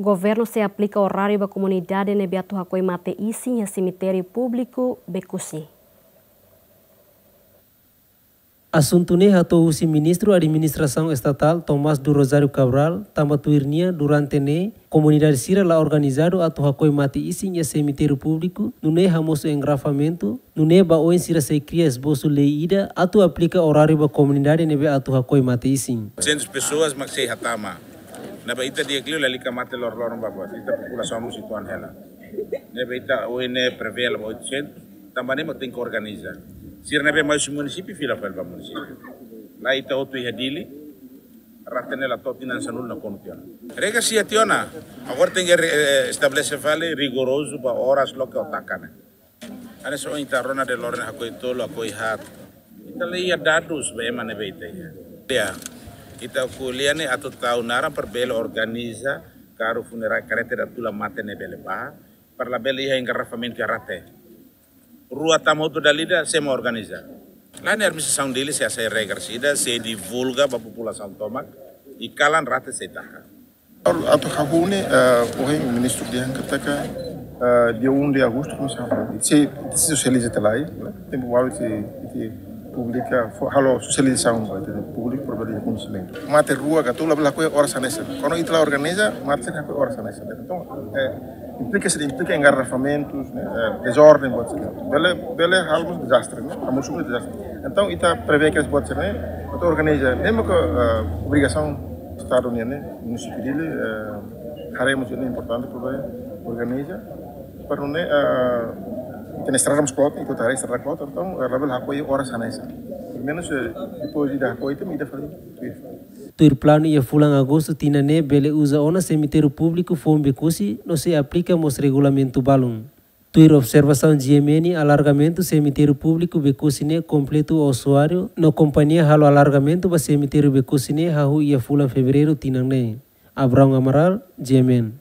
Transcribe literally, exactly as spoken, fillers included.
Governu sei aplika oráriu ba komunidade ne'ebé atu hakoi mate-isin iha semitériu públiku Becusse. Asuntu ne'e hato'o husi Ministru Administrasaun Estatál, Tomás do Rosário Cabral, tanba tuir nia durante ne'e komunidade sira la organizadu atu hakoi mate-isin iha semitériu públiku, nune'e hamosu engarrafamentu, nune'e ba oin sira sei kria esbosu lei ida atu aplika oráriu ba komunidade ne'ebé atu hakoi mate-isin. Oitocentas pessoas mak sei hatama. Ne'ebé ita di'ak liu lalika mate loroloron ba buat. Ita populasaun mós uitoan hela. Ne'ebé ita ohin ne'e prevee ba oitocentas, tanba ne'e mak tenke organiza. Sira ne'ebé mai husi munisípiu fila fali ba munisípiu. La'ós ita hotu iha Dili, rate ne'e la to'o tinan sanulu nakonu tiha ona. Regra sei iha tiha ona. Agora tenke re-, eh, estabelese fali rigorozu ba oras loke ho taka ne'e. Hanesan ohin ita rona de'it loron ne'e hakoi tolu, hakoi haat. Ita la iha dadus ba ema ne'ebé ita iha. Ya, ita ko'alia ne'e atu tau naran para bele organiza karru funerária, karreta ida tula mate ne'e bele bá, para labele iha engarrafamentu iha rate. Rua tama hotu dala ida, sé mak organiza. Lae, ne'e administrasaun Dili sei hasai regra ida, sei divulga ba populasaun tomak, i kalan rate sei taka. Atu hahú ne'e, eh, ohin ministru dehan katak, eh, dia um de agosto komesa hahú. Sei, sei sosializa tiha lai, tempu balu sei, sei publika, fó, halo sosializasaun ba ita-nia públiku para bele koñesimentu. Mate rua ka tolu labele hakoi oras hanesan. Kuandu ita la organiza, mate sei hakoi oras hanesan. Entaun, eh, implika, sei implika engarrafamentus, ne'e, eh, dezorden, buat sira. Bele, bele halo dezastre, ne'e? Hamosu dezastre. Entaun, ita prevee kedas buat sira-ne'e, atu organiza, mezmu ke, eh, obrigasaun Estadu nian, ne'e, munisípiu Dili, eh, haree mós ne'e importante para organiza, para nune'e, eh, ita-nia estrada mós kloot, ita haree estrada kloot, entaun, eh, labele hakoi oras hanesan. Pelumenus, eh, depois de hakoi, ita, ita fali. Tuir planu iha fulan Agostu tinan ne'e bele uza ona semitériu públiku foun Becusse no sei aplika mós regulamentu balun. Tuir observasaun G M N, alargamentu semitériu públiku Becusse ne'e kompletu osuáriu no kompañia halo alargamentu ba semitériu Becusse ne'e hahú iha fulan Fevereiru tinan ne'e. Abraão Amaral, G M N.